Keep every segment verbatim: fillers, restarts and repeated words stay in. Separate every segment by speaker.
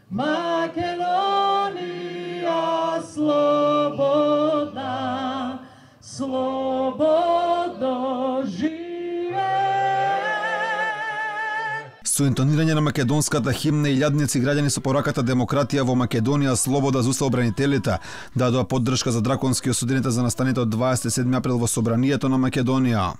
Speaker 1: Македонија слободна, слободно живее.
Speaker 2: Со интонирање на македонската химна, илјадници граѓани со пораката демократија во Македонија, слобода за уставобранителите, дадоа поддршка за драконски осудените за настаните од дваесет и седми април во Собранието на Македонија.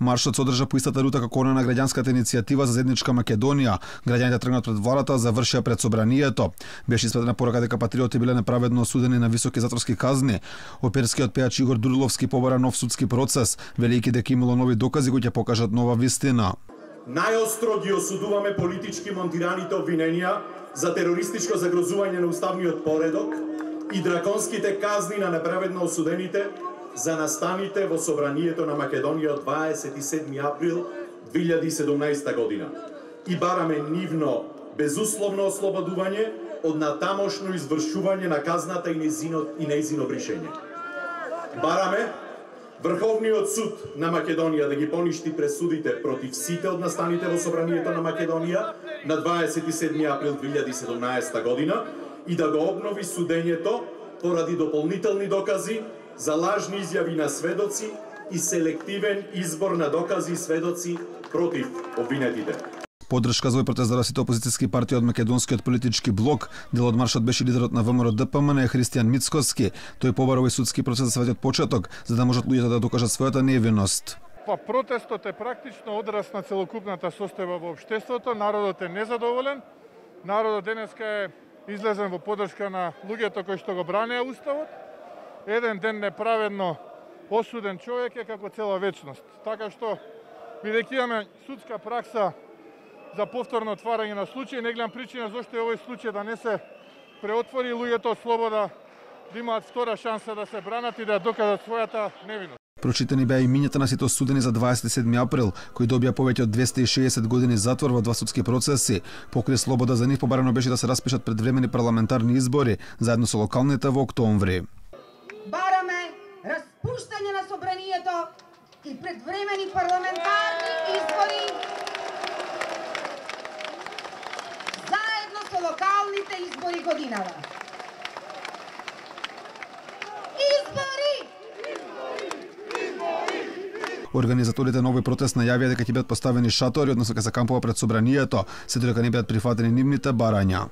Speaker 2: Маршот се одржа по истата рута како она на граѓанската иницијатива за заедничка Македонија. Граѓаните тргнат пред владата, завршија пред Собранието. Беше испратена порака дека патриоти биле неправедно осудени на високи затворски казни. Оперскиот пејач Игор Дурловски побара нов судски процес, велејќи дека имало нови докази кои ќе покажат нова вистина.
Speaker 3: Најостро ги осудуваме политички монтираните обвиненија за терористичко загрозување на уставниот поредок и драконските казни на неправедно осудените за настаните во Собранието на Македонија од дваесет и седми април две илјади и седумнаесета година и бараме нивно безусловно ослободување од натамошно извршување на казната и нејзино и нејзино бришење. Бараме Врховниот суд на Македонија да ги поништи пресудите против сите од настаните во Собранието на Македонија на дваесет и седми април две илјади и седумнаесета година и да го обнови судењето поради дополнителни докази за лажни изјави на сведоци и селективен избор на докази и сведоци против обвинетите.
Speaker 2: Поддршка за овој протест дадоа сите опозицијски партии од македонскиот политички блок. Дел од маршот беше лидерот на ВМРО Д П М Н Христијан Мицкоски. Тој побара овој судски процес да се вади од почеток, за да можат луѓето да докажат својата невиност.
Speaker 4: Па протестот е практично одраз на целокупната состојба во општеството. Народот е незадоволен. Народот денеска е излезен во поддршка на луѓето кои што го бранеа уставот. Еден ден неправедно осуден човек е како цела вечност. Така што, бидејќи имаме судска пракса за повторно отварање на случај, не гледам причина зашто е овој случај да не се преотвори, луѓето од слобода да имаат втора шанса да се бранат и да докажат својата невиност.
Speaker 2: Прочитани беа имињата на сите осудени за дваесет и седми април, кои добија повеќе од двесте и шеесет години затвор во два судски процеси. Покрај слобода за нив побарано беше да се распишат предвремени парламентарни избори, заедно со локалните во октомври.
Speaker 5: Бараме распуштање на Собранието и предвремени парламентарни избори заедно со локалните избори годинава. Избори!
Speaker 2: Организаторите на овој протест најавија дека ќе бидат поставени шатори, односно ќе се кампува пред Собранието, се додека не бидат прифатени нивните барања.